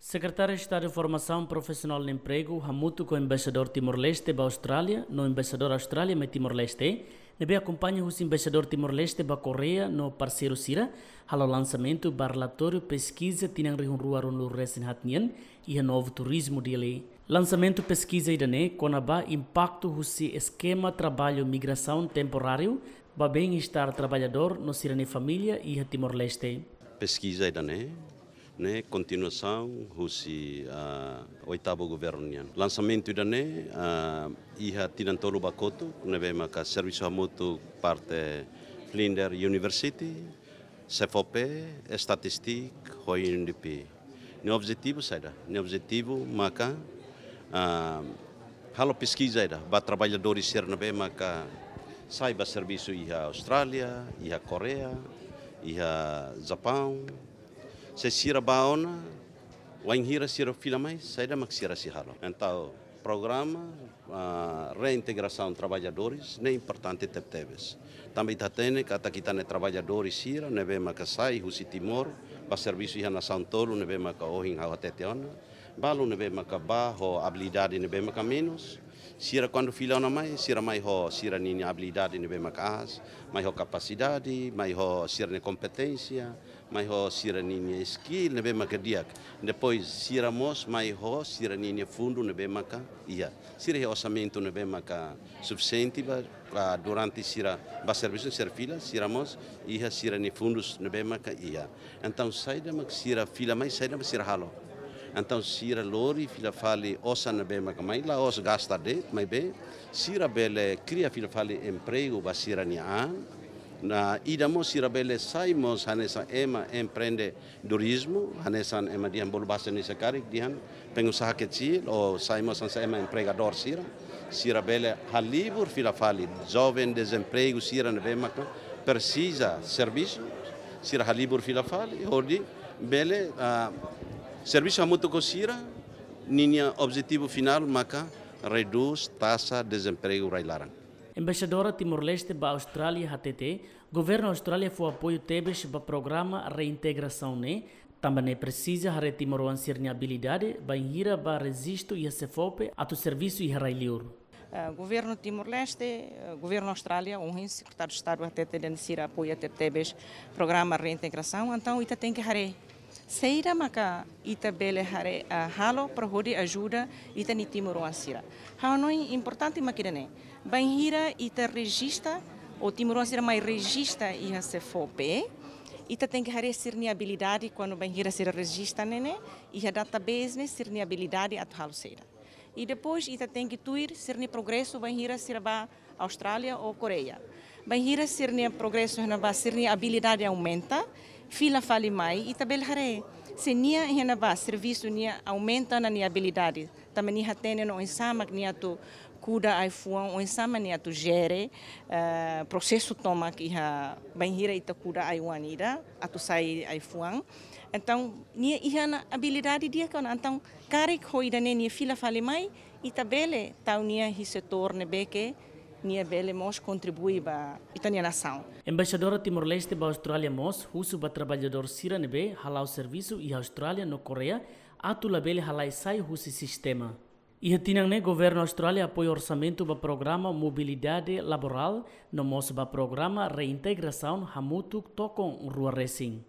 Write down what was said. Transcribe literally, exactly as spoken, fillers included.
Sekretáriu Estadu Formasaun Profisionál no Empregu hamutuk ho Embaixadór Timor-Leste ba Austrália no Embaixadór Austrália mai Timor-Leste, ne'ebé akompaña husi Embaixadór Timor-Leste ba Koreia no parseiru sira, halo lansamentu ba relatóriu peskiza tinan rihun rua ruanulu-resin-haat nian iha Novo Turismo, Dili. Lansamentu peskiza ida-ne'e kona-ba impaktu husi eskema traballu migrasaun temporáriu ba bem-estar traballadór no sira-nia família iha Timor-Leste. Peskiza ida-ne'e ne'e kontinuasaun husi, ah, oitavu governu nian. Lansamentu ida-ne'e, ah, iha tinan tolu ba kotuk, ne'ebé maka servisu hamutuk parte Flinders University, SEFOPE, Statistik, ho U N D P. Nia objetivu saida? Nia objetivu maka, ah, halo peskiza ida ba traballadór sira ne'ebé maka sai ba servisu iha Austrália, iha Koreia, iha Japaun. Se sira bá ona, wainhira sira fila mai, saida mak sira sei halo. Entaun, programa, ah, reintegrasaun traballadores ne'e importante tebetebes. Tanba ita hatene katak ita-nia traballadór sira ne'ebé maka sai husi Timor ba servisu iha nasaun tolu ne'ebé maka ohin ha'u hatete ona. Balu ne'ebé maka bá ho abilidade ne'ebé maka menus. Sira kuandu fila ona mai, sira mai ho sira-ninia abilidade ne'ebé maka aas, mai ho kapasidade, mai ho sira-nia kompeténsia, mai ho sira-ninia skill ne'ebé maka di'ak. Depois sira mós mai ho sira-ninia fundu ne'ebé maka iha. Sira iha orsamentu ne'ebé maka sufisiente ba, ah, durante sira bá servisu, sira fila, sira mós iha sira-nia fundus ne'ebé maka iha. Entaun saida mak sira fila mai, saida mak sira halo. Entaun sira lori fila fali osan ne'ebé maka mai, la'ós gasta de'it, maibé sira bele kria fila fali empregu ba sira-nia an. No ida mós sira bele sai mós hanesan ema empreendedorizmu, hanesan ema dehan bolu bahasa Indonesia karik dehan pengusaha kecil, ou sai mós hanesan ema empregadór sira. Sira bele halibur fila fali joven dezempregu sira ne'ebé maka presiza servisu, sira halibur fila fali, hodi bele, ah, servisu hamutuk ho sira, ninia objetivu finál maka redús taxa dezempregu rai-laran. Embaixadora Timor-Leste ba Austrália hatete, governu Austrália fó apoiu tebes ba programa reintegrasaun ne'e, tanba ne'e presiza haree timoroan sira-nia abilidade, bainhira bá rejistu iha SEFOPE atu servisu iha rai-liur. Ah, governu Timor-Leste, ah, governu Austrália, ohin Sekretáriu Estadu hatete dehan sira apoia tebetebes programa reintegrasaun, entaun ita tenke haree saida maka ita bele haree, ah, halo para hodi ajuda ita-nia timoroan sira. Ha'u hanoin importante mak ida-ne'e. Bainhira ita rejista, ou timoroan sira mai rejista iha SEFOPE, ita tenke haree sira-nia abilidade, kuandu bainhira sira rejista ne'e ne'e, iha database ne'e sira-nia abilidade atu halo saida. I depois ita tenke tuir sira-nia progresu bainhira sira bá Austrália ou Koreia. Bainhira sira-nia progresu iha ne'ebá, sira-nia abilidade aumenta, fila fali mai, ita bele haree se nia iha ne'ebá servisu nia aumenta ona nia abilidade. Tanba nia hatene ona oinsá mak nia atu kuda ai-fuan, oinsá mak nia atu jere, eh, prosesu tomak iha bainhira ita kuda ai-oan ida atu sai ai-fuan. Entaun, nia iha ona abilidade di'ak ona. Entaun, karik ho ida-ne'e nia fila fali mai, ita bele tau nia iha setór ne'ebé ke nia bele mós kontribui ba ita-nia nasaun. Embaixadora Timor-Leste ba Austrália mós husu ba traballadór sira ne'ebé hala'o servisu iha Austrália no Koreia atu labele halai sai husi sistema. Iha tinan ne'e, governu Austrália apoia orsamentu ba programa mobilidade laborál no mós ba programa reintegrasaun hamutuk tokon rua resin.